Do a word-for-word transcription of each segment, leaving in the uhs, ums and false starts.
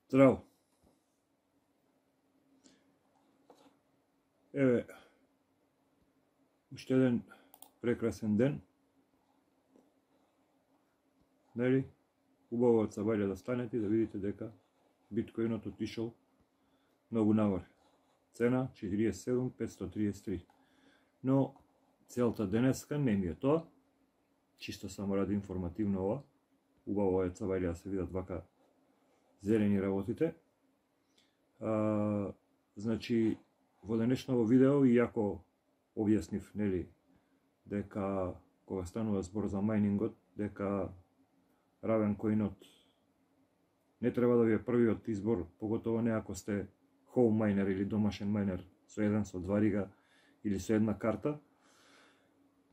Здраво! Еве, уште еден прекрасен ден. Нели? Убаво од сабајле да станете и да видите дека биткоинот отишол многу нагоре. Цена четириесет и седум петстотини триесет и три. Но целта денеска не ми е тоа. Чисто само ради информативно ова. Убаво е сабајле да се видат вака зелени работите. А, значи, во денешново видео, иако објаснив, нели, дека кога станува збор за мајнингот, дека Ravencoinот не треба да ви е првиот избор, поготово не ако сте home miner или домашен мајнер со еден, со два рига или со една карта.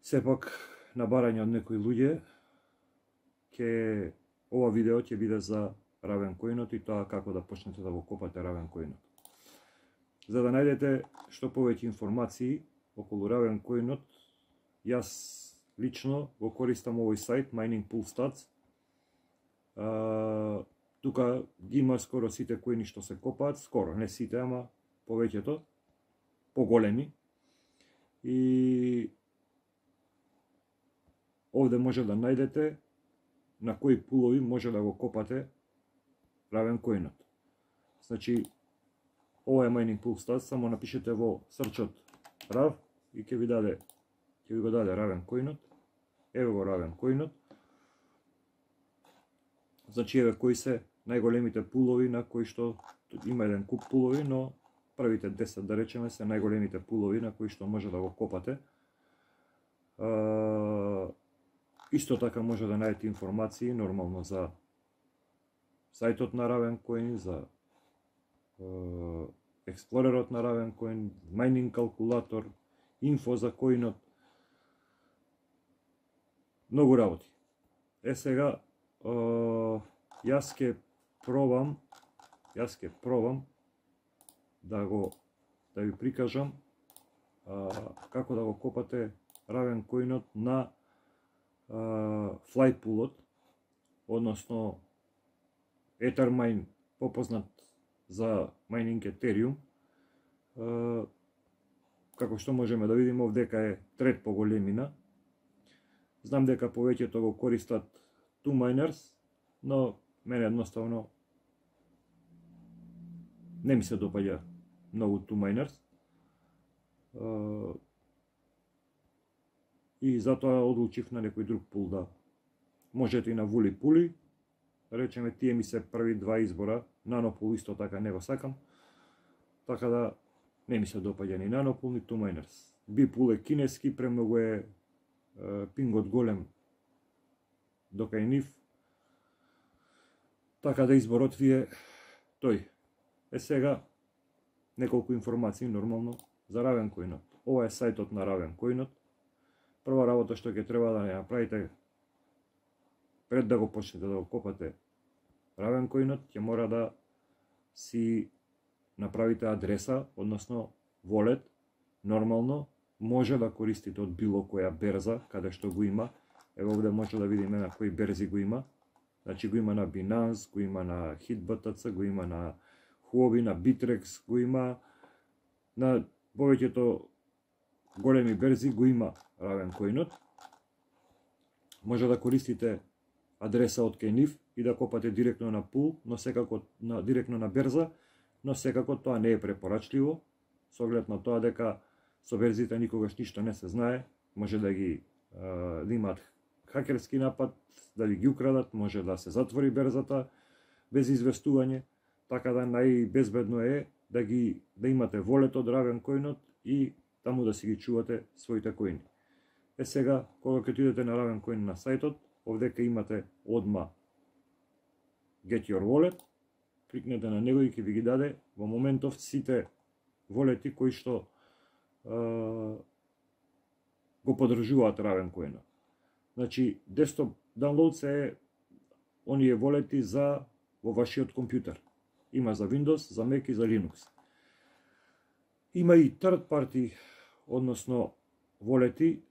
Сепак, на барање од некои луѓе, ке ова видео ќе биде за Ravencoinot и тоа како да почнете да го копате Ravencoinot. За да најдете што повеќе информации околу Ravencoinot, јас лично го користам овој сајт Mining Pool Stats. Uh, тука ги има скоро сите коини што се копаат, скоро, не сите, ама повеќето, поголеми. И овде може да најдете на кои пулови може да го копате Ravencoinot. Значи, ова е Mining Pool Stats, само напишете во срчот Rav и ќе ви даде, ќе ви го даде Ravencoinot. Еве го Ravencoinot. Значи, еве кои се најголемите пулови на кои што има еден куп пулови, но првите десет, да речеме, се најголемите пулови на кои што може да го копате. Uh, исто така може да најдете информации нормално за сајтот на Ravencoin, за uh, експлорерот на Ravencoin, майнинг калкулатор, инфо за коинот. Многу работи. Е сега, Uh, јас ке пробам, јас ке пробам да го да ви прикажам uh, како да го копате Ravencoinot на uh, Flypoolот, односно Ethermine, попознат за майнинг Ethereum. Uh, како што можеме да видиме, овдека е трет по големина. Знам дека повеќето го користат two miners, но мене едноставно не ми се допаѓа многу two miners. Uh, и затоа одлучив на некој друг пул да можете и на Вули Пули. Да речеме, тие ми се први два избора. Nanopul исто така не го сакам. Така да не ми се допаѓа ни Nanopul ни two miners. Bipul е кинески, премногу е uh, пингот голем до кај нив. Така да изборот ви е тој. Е сега неколку информации нормално за Ravencoinot. Ова е сајтот на Ravencoinot. Прва работа што ќе треба да ја направите пред да го почнете да го копате Ravencoinot, ќе мора да си направите адреса, односно wallet. Нормално може да користите од било која берза каде што го има. Ево овде може да видиме на кои берзи го има. Значи го има на Binance, го има на HitBTC, го има на Huobi, на Bittrex, го има на повеќето големи берзи, го има Ravencoinot. Може да користите адреса од кај нив и да копате директно на пул, но секако на директно на берза, но секако тоа не е препорачливо, со оглед на тоа дека со берзите никогаш ништо не се знае, може да ги да имаат хакерски напад, да ви ги украдат, може да се затвори берзата без известување, така да најбезбедно е да ги да имате волет од Ravencoinot и таму да си ги чувате своите коини. Е сега, кога ќе отидете на Ravencoin на сајтот, овдека имате одма Get Your Wallet, кликнете на него и ќе ви ги даде во моментов сите волети кои што uh, го поддржуваат Ravencoinot. Значи, desktop downloads е оние волети за во вашиот компјутер. Има за Windows, за Mac и за Linux. Има и third party, односно волети,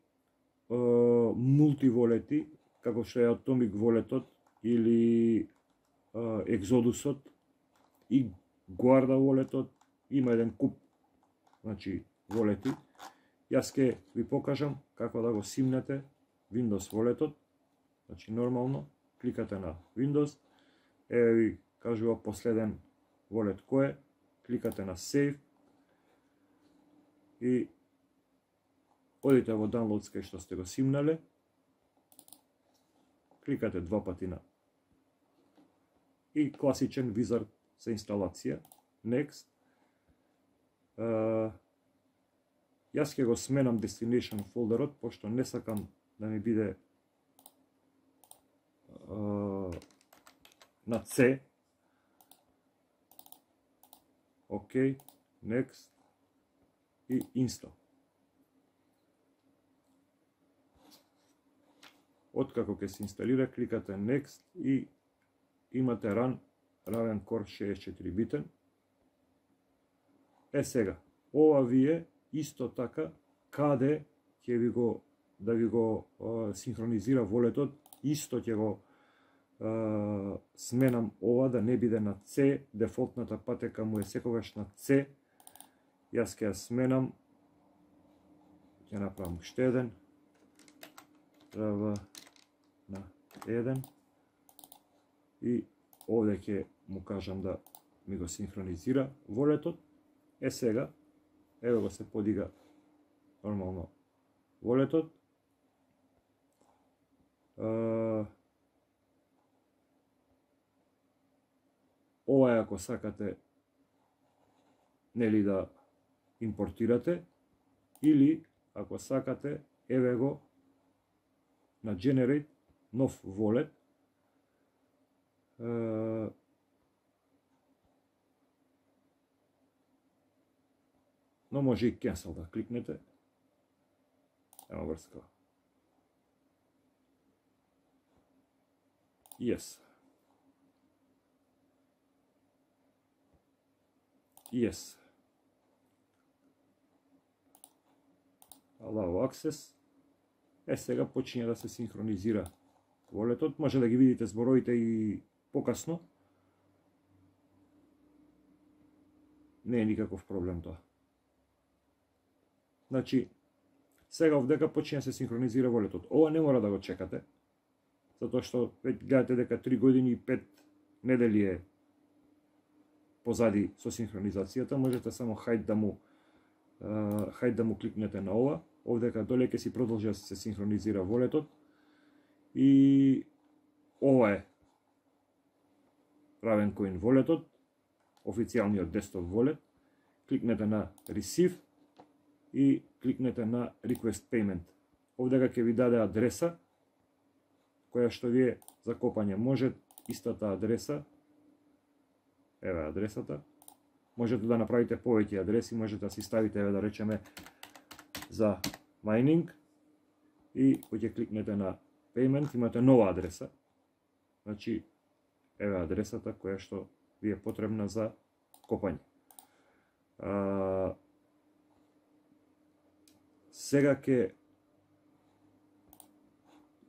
мултиволети, како што е Atomic волетот или Exodusот, и Guarda волетот, има еден куп, значи, волети. Јас ќе ви покажам како да го симнете Windows волетот. Значи, нормално, кликате на Windows, еве ви кажува последен волет кој е, кликате на Save и одите во Downloads кај што сте го симнале, кликате два пати на и класичен визард за инсталација, Next. Uh, јас ќе го сменам Destination фолдерот, пошто не сакам да ми биде uh, на C. Ok, Next и Install. Откако ќе се инсталира, кликате Next и имате Run Raven Core шеесет и четири битен. Е сега, ова ви е исто така каде ќе ви го да ви го е, синхронизира волетот, исто ќе го е, сменам ова да не биде на C, дефолтната патека му е секогаш на C. Јас ќе ја сменам, ќе направам уште еден, треба на еден и овде ќе му кажам да ми го синхронизира волетот. Е сега, еве го се подига нормално волетот. Uh, ова е ако сакате нели да импортирате, или ако сакате, еве го на Generate нов волет. Uh, но може и Cancel да кликнете. Ема врска. Yes. Yes. Allow access. Е, сега почиња да се синхронизира волетот. Може да ги видите зборовите и покасно. Не е никаков проблем тоа. Значи, сега овдека почиња да се синхронизира волетот. Ова не мора да го чекате, затоа што веќе гледате дека три години и пет недели е позади со синхронизацијата. Можете само хајд да му uh, хајд да му кликнете на ова. Овдека доле ќе си продолжи да се синхронизира волетот. И ова е Ravencoin волетот, официјалниот десктоп волет. Кликнете на Receive и кликнете на Request Payment. Овдека ќе ви даде адреса која што ви е за копање. Може истата адреса, еве адресата, можете да направите повеќе адреси, можете да си ставите, еве да речеме, за mining и кој ќе кликнете на Payment, имате нова адреса. Значи, еве адресата која што ви е потребна за копање. А, сега ќе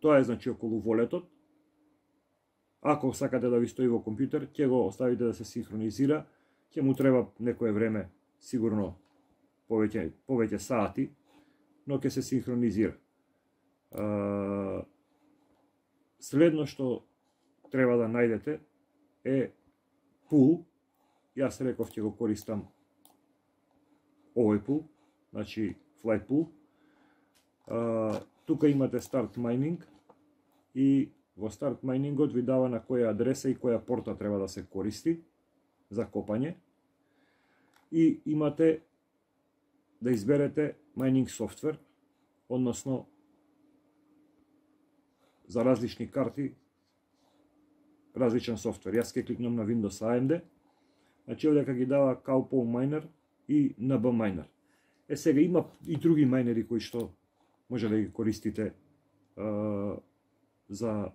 тоа е значи околу волетот. Ако сакате да ви стои во компјутер, ќе го оставите да се синхронизира, ќе му треба некое време, сигурно повеќе повеќе сати, но ќе се синхронизира. А, следно што треба да најдете е пул. Јас реков ќе го користам овој пул, значи Flight Pool. А, тука имате Start Mining и во Start Mining-от ви дава на која адреса и која порта треба да се користи за копање. И имате да изберете Mining Software, односно за различни карти различен софтвер. Јас ќе кликнам на Windows A M D. Значи овдека ги дава Cowpole Miner и N B Miner. Е сега има и други майнери кои што може да ги користите а, за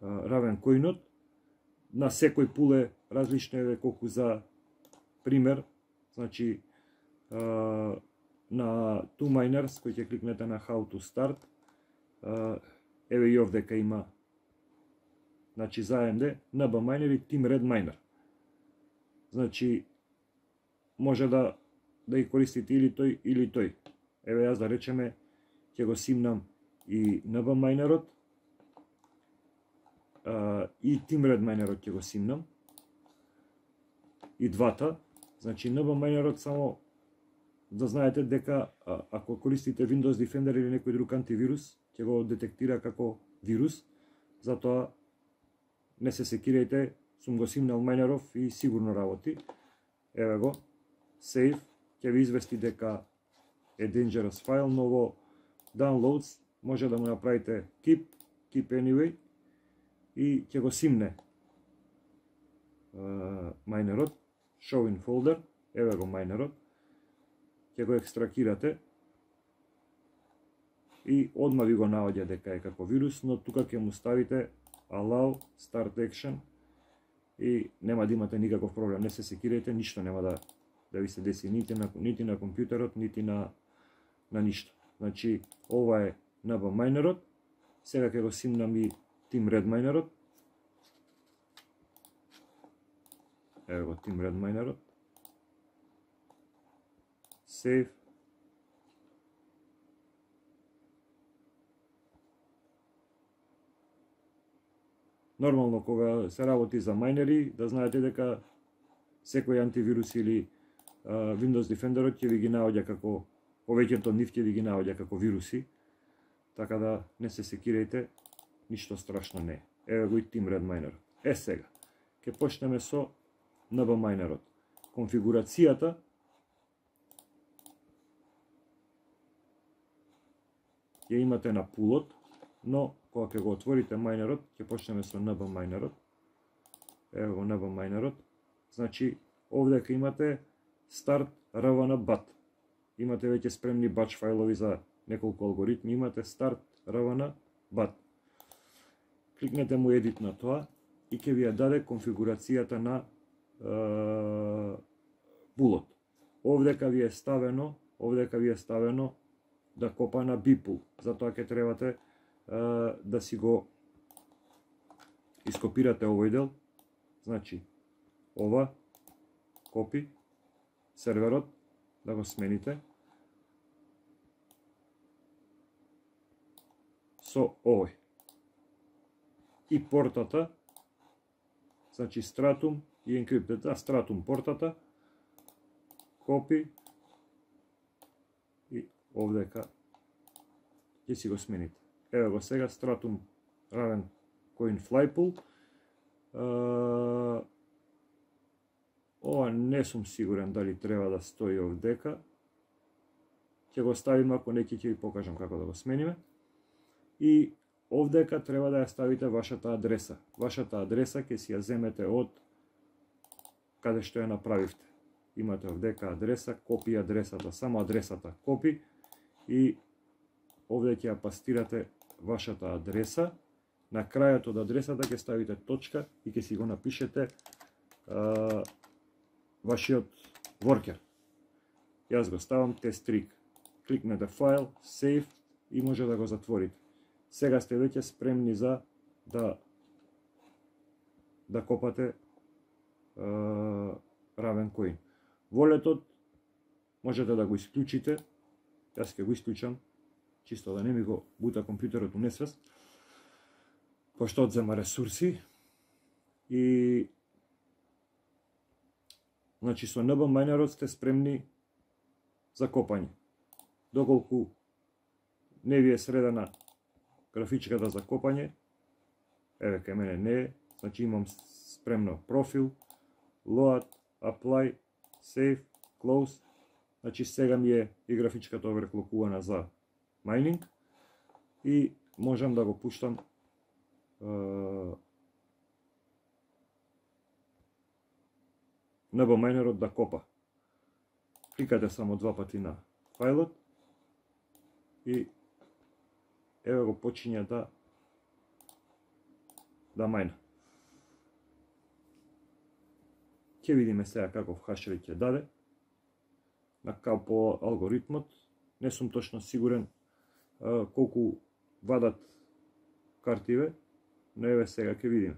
Ravencoin-от. На секој пул е различно, еве колку за пример, значи а, на two miners кој ќе кликнете на How to Start, а, еве и овдека има, значи за A M D, N B Miner и Team Red Miner. Значи може да да ги користите или тој или тој. Еве јас да речеме ќе го симнам и ен би Minerот и Timred Minerот ќе го симнам и двата. Значи ен би Minerот само да знаете дека ако користите Windows Defender или некој друг антивирус ќе го детектира како вирус, затоа не се секирајте, сум го симнал Minerов и сигурно работи. Еве го, save, ќе ви извести дека е dangerous файл, но во downloads може да му направите keep, keep anyway и ќе го симне uh, Minerот, show in folder, еве го Minerot, ќе го екстракирате и одма ви го наоѓа дека е како вирус, но тука ќе му ставите allow start action и нема да имате никаков проблем, не се секирајте, ништо нема да да ви се деси нити на нити на компјутерот, нити на на ништо. Значи ова е ен би Minerot. Сега ќе го симнам и Timred Minerot. Ево го Timred Minerot. Save. Нормално кога се работи за майнери, да знаете дека секој антивирус или uh, Windows Defender ќе ви ги наоѓа како, повеќето нив ќе ви ги наоѓа како вируси, така да не се секирајте, ништо страшно не е. Еве го и Timred Minerot. Е сега, ќе почнеме со ен би Minerot. Конфигурацијата ја имате на пулот, но кога ќе го отворите Minerot, ќе почнеме со ен би Minerot. Ево го ен би Minerot. Значи, овде ќе имате start ravana bat. Имате веќе спремни batch фајлови за неколку алгоритми, имате start ravana bat. Кликнете му edit на тоа и ќе ви ја даде конфигурацијата на е, пулот. Овдека ви е ставено, овдека ви е ставено да копа на bpool. Затоа ќе требате е, да си го ископирате овој дел. Значи, ова, копи, серверот, да го смените со овој. И портата, значи Stratum и Encrypted, а Stratum портата, копи и овдека ќе си го смените. Ево го сега Stratum Raven Coin Flypool. Uh, ова не сум сигурен дали треба да стои овдека. Ќе го ставим, ако не ќе ви покажам како да го смениме. И овдека треба да ја ставите вашата адреса. Вашата адреса ќе си ја земете од каде што ја направивте. Имате овдека адреса, копи адресата, само адресата копи и овде ќе ја пастирате вашата адреса. На крајот од адресата ќе ставите точка и ќе си го напишете а, вашиот воркер. Јас го ставам test-rig. Кликнете файл, save и може да го затворите. Сега сте веќе спремни за да да копате а, Ravencoin. Волетот можете да го исклучите. Јас ќе го исклучам, чисто да не ми го бута компјутерот у несвест, пошто одзема ресурси. И значи со ен би Minerot сте спремни за копање. Доколку не ви е средена графичката за копање, еве кај мене не е, значи имам спремно профил, load, apply, save, close, значи сега ми е и графичката overclockувана за mining и можам да го пуштам Uh, ен би Minerot да копа. Кликате само два пати на фајлот и еве го почиња да да мајна. Ќе видиме сега каков хашрейт ќе даде на као алгоритмот. Не сум точно сигурен uh, колку вадат картиве, но еве сега ќе видиме.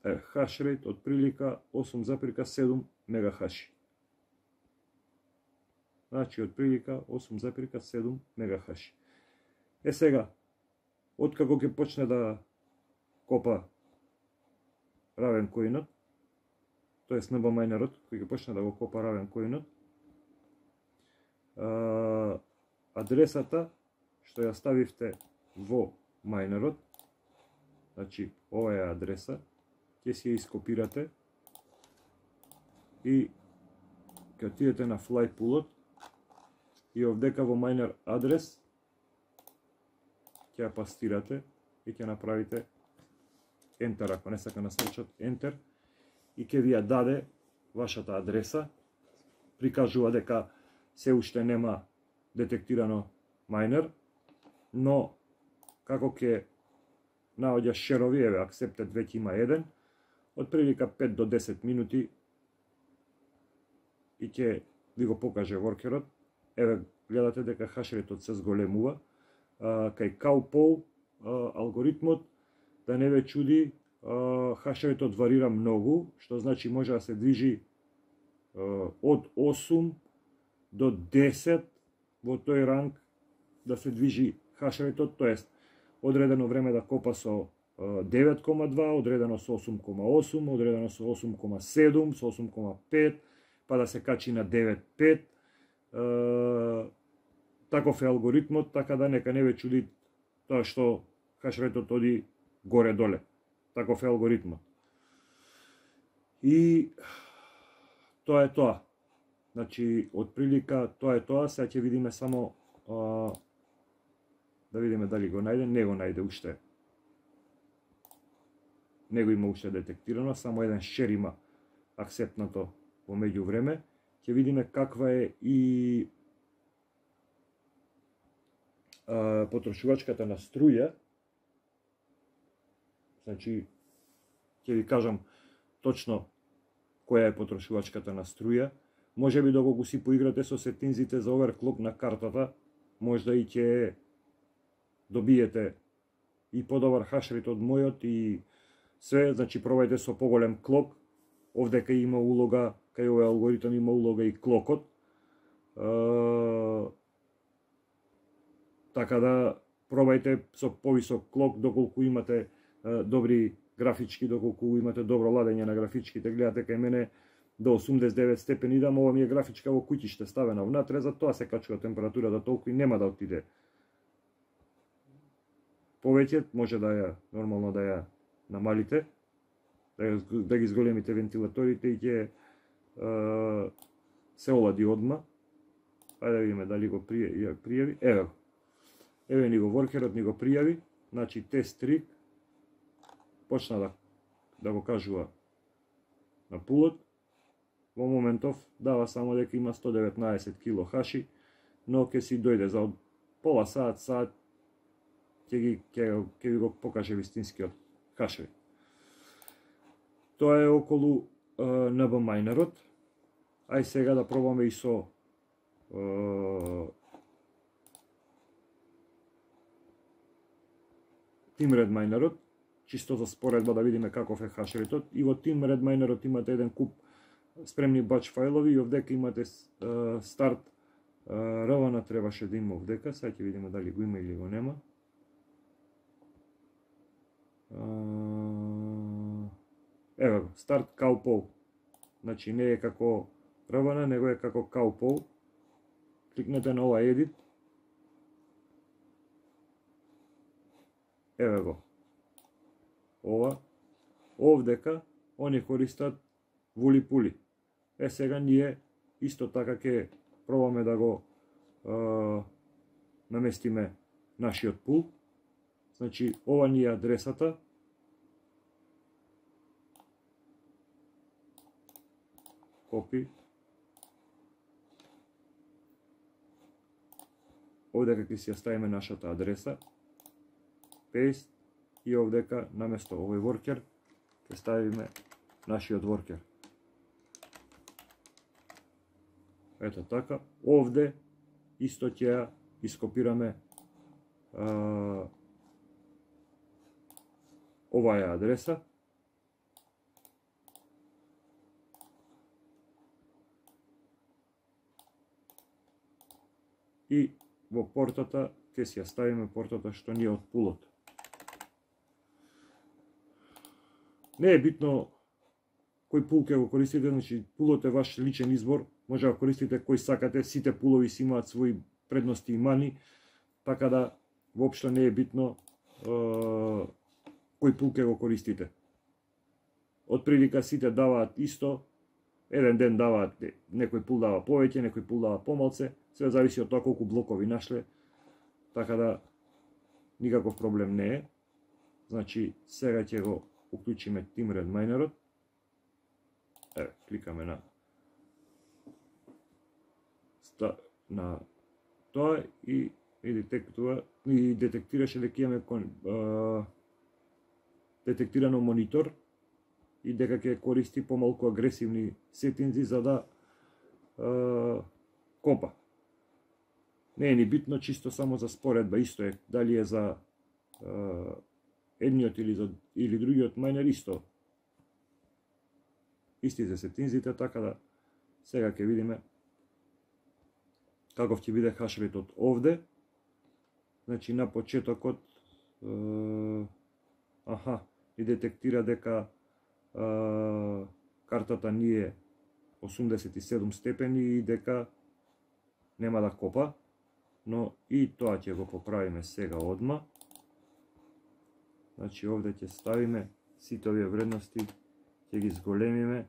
е хашрейт од прилика осум запирка седум мегахаши. Значи од прилика осум запирка седум мегахаши. Е сега, откако ќе почне да копа Ravencoinот, тоест ен би майнерот, кој ќе почне да го копа Ravencoinot, адресата што ја ставивте во майнерот, значи ова е адреса, ќе си ја ископирате и ќе отидете на Flypoolот и овдека во майнер адрес ќе ја пастирате и ќе направите Enter, ако не сака на срчат Enter, и ќе ви ја даде вашата адреса, прикажува дека се уште нема детектирано майнер, но како ќе наоѓа шерови, еве, accepted веќе има еден, од прилика пет до десет минути и ќе ви го покаже воркерот. Еве, гледате дека хашрейтот се зголемува. Кај Cowpow алгоритмот, да не ве чуди, хашрейтот варира многу, што значи може да се движи од осум до десет во тој ранг да се движи хашрейтот, тоест одредено време да копа со девет кома два, одредено со осум кома осум, одредено со осум кома седум, со осум кома пет, па да се качи на девет кома пет. Таков е алгоритмот, така да нека не ве чуди тоа што хашрейтот оди горе-доле. Таков е алгоритмот. И тоа е тоа. Значи, од прилика тоа е тоа. Сега ќе видиме само а, да видиме дали го најде. Не го најде уште. Не го има уште детектирано. Само еден шер има акцептнато во меѓувреме. Ќе видиме каква е и а, потрошувачката на струја. Значи, ќе ви кажам точно која е потрошувачката на струја. Може би доколку си поиграте со сетинзите за оверклок на картата, можда и ќе добиете и подобар хашрейт од мојот и све. Значи, пробајте со поголем клок. Овдека има улога, кај овој алгоритам има улога и клокот. Uh, така да пробајте со повисок клок доколку имате uh, добри графички, доколку имате добро ладење на графичките. Гледате кај мене до осумдесет и девет степени идам, ова ми е графичка во куќиште ставена внатре, за тоа се качува температурата толку и нема да отиде повеќе, може да ја нормално да ја намалите, да, ја, да ги зголемите вентилаторите и ќе uh, се олади одма. Ајде да видиме дали го пријави, пријави. Еве го. Еве ни го воркерот ни го пријави. Значи тест три почна да, да го кажува на пулот. Во моментов дава само дека има сто деветнаесет кило хаши, но ќе си дојде за пола саат, саат ќе ги ќе, ќе ви го покаже вистинскиот хашрейт. Тоа е околу uh, ен би майнерот. Ај сега да пробаме и со Uh, Team-Red майнерот, чисто за споредба да видиме каков е хашрейтот. И во Team-Red майнерот имате еден куп спремни бач фајлови и овдека имате uh, старт uh, равана требаше да има овдека. Сега ќе видиме дали го има или го нема. Uh, Ево го, старт Cowpow. Значи не е како равана, него е како Cowpow. Кликнете на ова edit. Еве го. Ова. Овдека они користат вули-пули. Е сега ние исто така ќе пробаме да го е, наместиме нашиот пул. Значи ова ни е адресата. Копи. Овдека ќе си ја ставиме нашата адреса, paste, и овдека наместо овој воркер ќе ставиме нашиот воркер. Ето така, овде исто ќе ја ископираме а, оваа е адреса и во портата ќе си ја ставиме портата што ни е од пулот. Не е битно кој пул ќе го користите, значи пулот е ваш личен избор, може да користите кој сакате, сите пулови си имаат своји предности и мани, така да воопшто не е битно е, кој пул ќе го користите. Од прилика сите даваат исто, еден ден даваат, некој пул дава повеќе, некој пул дава помалце, све зависи од тоа колку блокови нашле, така да никаков проблем не е. Значи сега ќе го уклучиме Timred Minerот. Еве, кликаме на на тоа и и детектува и детектираше дека имаме детектирано монитор и дека ќе користи помалку агресивни сетинзи за да е, копа. Не е ни битно, чисто само за споредба, исто е дали е за е, едниот или за или другиот мајнер, исто. Исти за сетинзите, така да сега ќе видиме каков ќе биде хашрейтот овде. Значи на почетокот е, аха, и детектира дека е, картата ни е осумдесет и седум степени и дека нема да копа, но и тоа ќе го поправиме сега одма. Значи овде ќе ставиме сите овие вредности, ќе ги зголемиме.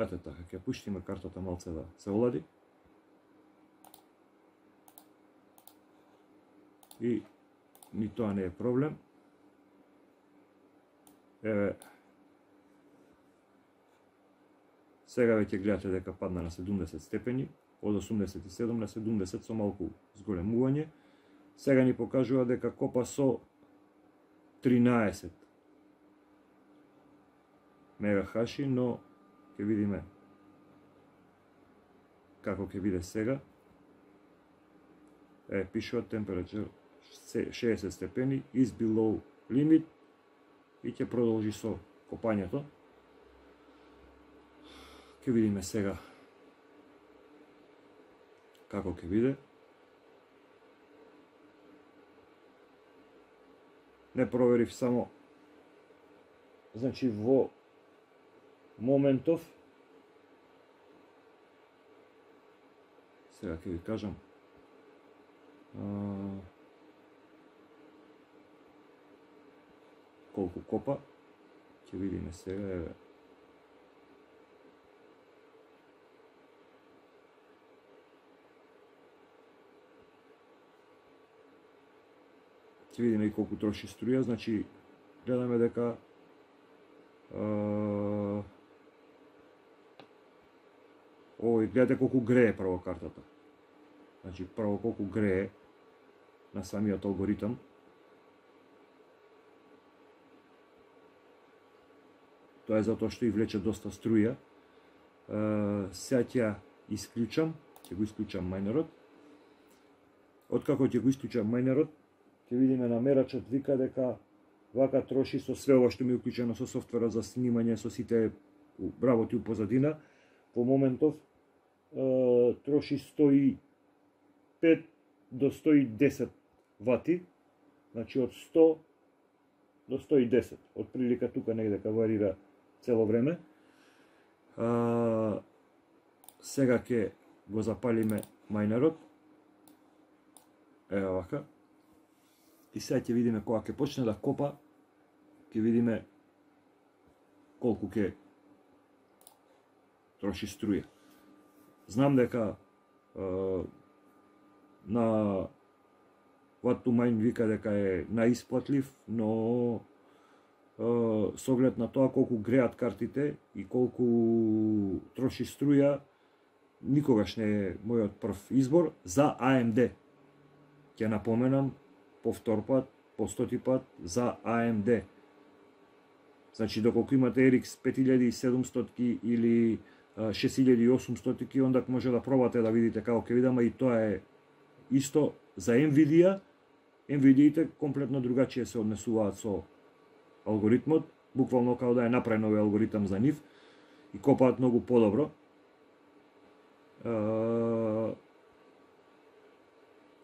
Ете така, ќе пуштиме картата малце да се олади. И ни тоа не е проблем. Еве, сега веќе гледате дека падна на седумдесет степени, од осумдесет и седум на седумдесет со малку зголемување. Сега ни покажува дека копа со тринаесет мегахаши, но ќе видиме како ќе биде сега. Е, пишува температура шеесет степени, is below limit, и ќе продолжи со копањето. Ќе видиме сега како ќе биде. Не проверив само, значи во моментов, сега ќе ви кажам, а, колку копа, ќе видиме сега, еве. Ќе видиме и колку троши струја, значи гледаме дека а, овој, гледате колку грее прво картата. Значи прво колку грее на самиот алгоритам. Тоа е затоа што и влече доста струја. Сега ќе исклучам, ќе го исклучам мајнерот. Откако ќе го исклучам мајнерот, ќе видиме на мерачот вика дека вака троши со све ова што ми е уклучено со софтверот за снимање, со сите работи у позадина. Во моментов е, троши сто и пет до сто и десет вати, значи од сто до сто и десет. Од прилика тука негде варира цело време. А, сега ќе го запалиме мајнерот. Ева вака. И сега ќе видиме кога ќе почне да копа, ќе видиме колку ќе троши струја. Знам дека е, на What to Mine вика дека е наисплатлив, но е, со оглед на тоа колку греат картите и колку троши струја, никогаш не е мојот прв избор за А Ем Ди. Ќе напоменам по втор пат, по стоти пат за А Ем Ди. Значи, доколку имате Ер Икс пет илјади и седумстотки или шест илјади и осумстотки, онда може да пробате да видите како ќе видам, и тоа е исто за Nvidia. Nvidia-ите комплетно другачие се однесуваат со алгоритмот, буквално као да е направен овој алгоритам за нив и копаат многу подобро.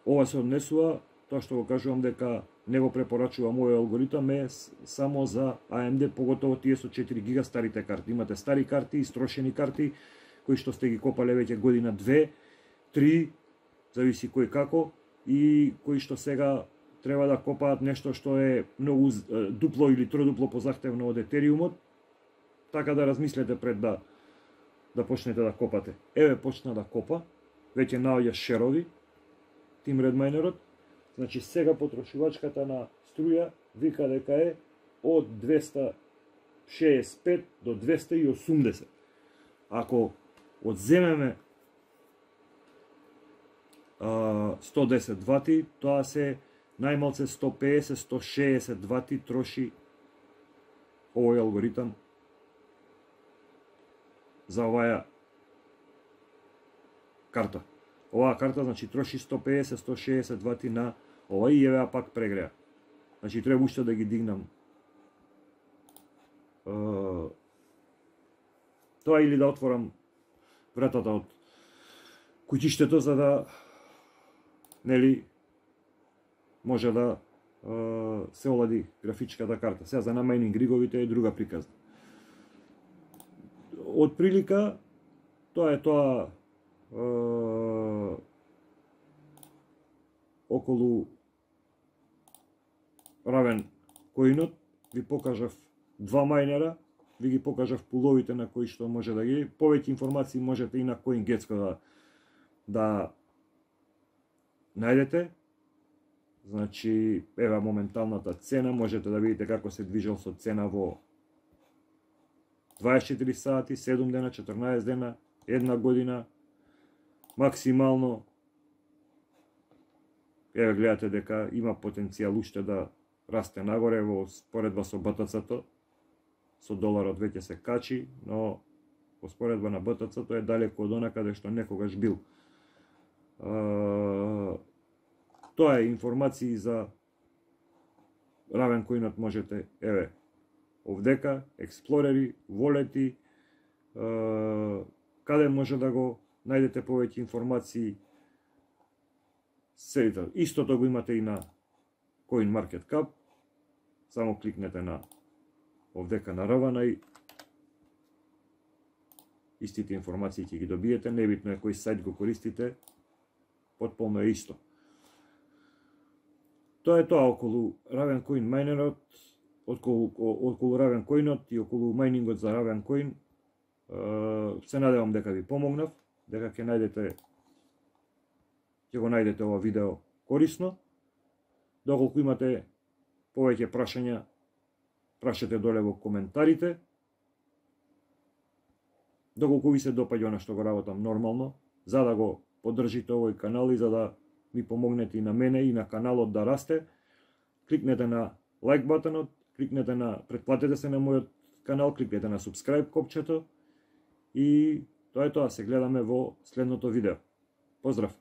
Ова се однесува, тоа што го кажувам дека не го препорачувам овој алгоритам е само за А Ем Ди, поготово тие со четири гига старите карти. Имате стари карти, истрошени карти, кои што сте ги копале веќе година две, три, зависи кој како, и кои што сега треба да копаат нешто што е многу дупло или тродупло позахтевно од етериумот, така да размислете пред да да почнете да копате. Еве почна да копа, веќе наоѓа шерови, Тим Редмайнерот, значи сега потрошувачката на струја вика дека е од двеста шеесет и пет до двеста и осумдесет. Ако одземеме а, сто десет вати, тоа се најмалце сто пеесет до сто шеесет вати троши овој алгоритам за оваа карта. Оваа карта значи троши сто пеесет до сто шеесет вати на ова и евеа пак прегреа. Значи треба уште да ги дигнам. Uh, тоа или да отворам вратата од куќиштето за да нели може да uh, се олади графичката карта. Сега за намајнинг риговите е друга приказна. Од прилика тоа е тоа uh, околу Равен коинот ви покажав два мајнера, ви ги покажав пуловите на кои што може да ги. Повеќе информации можете и на CoinGecko да, да најдете. Значи, ева моменталната цена, можете да видите како се движел со цена во дваесет и четири сати, седум дена, четрнаесет дена, една година, максимално. Еве гледате дека има потенцијал уште да расте нагоре во споредба со Б Т Ц-то. Со доларот веќе се качи, но во споредба на Б Т Ц-то е далеко од она каде што некогаш бил. Uh, тоа е информации за Равен коинот, можете, еве, овдека, експлорери, волети, uh, каде може да го најдете повеќе информации. Седите, истото го имате и на CoinMarketCap, само кликнете на овдека на Равана и истите информации ќе ги добиете, небитно е кој сајт го користите, потполно е исто. Тоа е тоа околу Raven Coin майнерот, околу, околу Raven Coinот и околу мајнингот за Raven Coin. Се надевам дека ви помогнав, дека ќе најдете ќе го најдете ова видео корисно. Доколку имате повеќе прашања, прашете доле во коментарите. Доколку ви се допаѓа она што го работам нормално, за да го поддржите овој канал и за да ми помогнете и на мене и на каналот да расте, кликнете на лайк батонот, кликнете на претплатете се на мојот канал, кликнете на subscribe копчето и тоа е тоа. Се гледаме во следното видео. Поздрав!